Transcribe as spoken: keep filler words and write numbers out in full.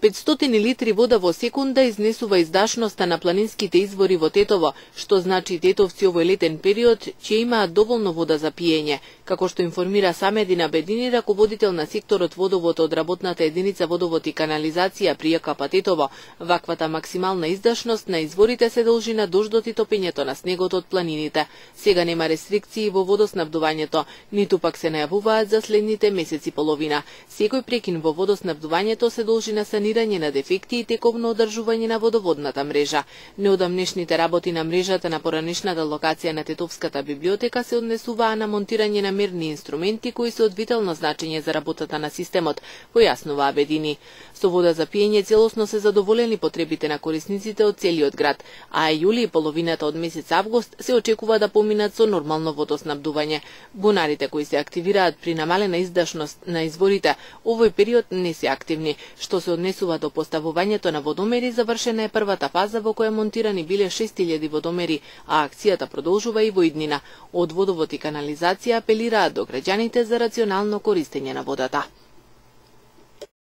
петстотини литри вода во секунда изнесува издашноста на планинските извори во Тетово, што значи тетовци овој летен период ќе имаат доволно вода за пиење. Како што информира Самедин Абедини, раководител на секторот водовод од работната единица водовод и канализација при Ја Ка Па Тетово, ваквата максимална издашност на изворите се дължи на дождот и топењето на снегот од планините. Сега нема рестрикции во водоснабдувањето, ниту пак се најавуваат за следните месеци половина. Секој прекин во водоснабдувањето се дължи на санирање на дефекти и тековно одржување на водоводната мрежа. Неодамнешните работи на мрежата на поранешната локација на Тетовската библиотека се однесуваа на монтирање на мерни инструменти кои се од витално значење за работата на системот, појаснува Абедини. Со вода за пиење целосно се задоволени потребите на корисниците од целиот град, а јули и половината од месец август се очекува да поминат со нормално водоснабдување. Бунарите кои се активираат при намалена издашност на изворите овој период не се активни, што се однесува до поставувањето на водомери. Завршена е првата фаза во која монтирани биле шест илјади водомери, а акцијата продолжува и во иднина. Од водовод и канализација апелираат до граѓаните за рационално користење на водата.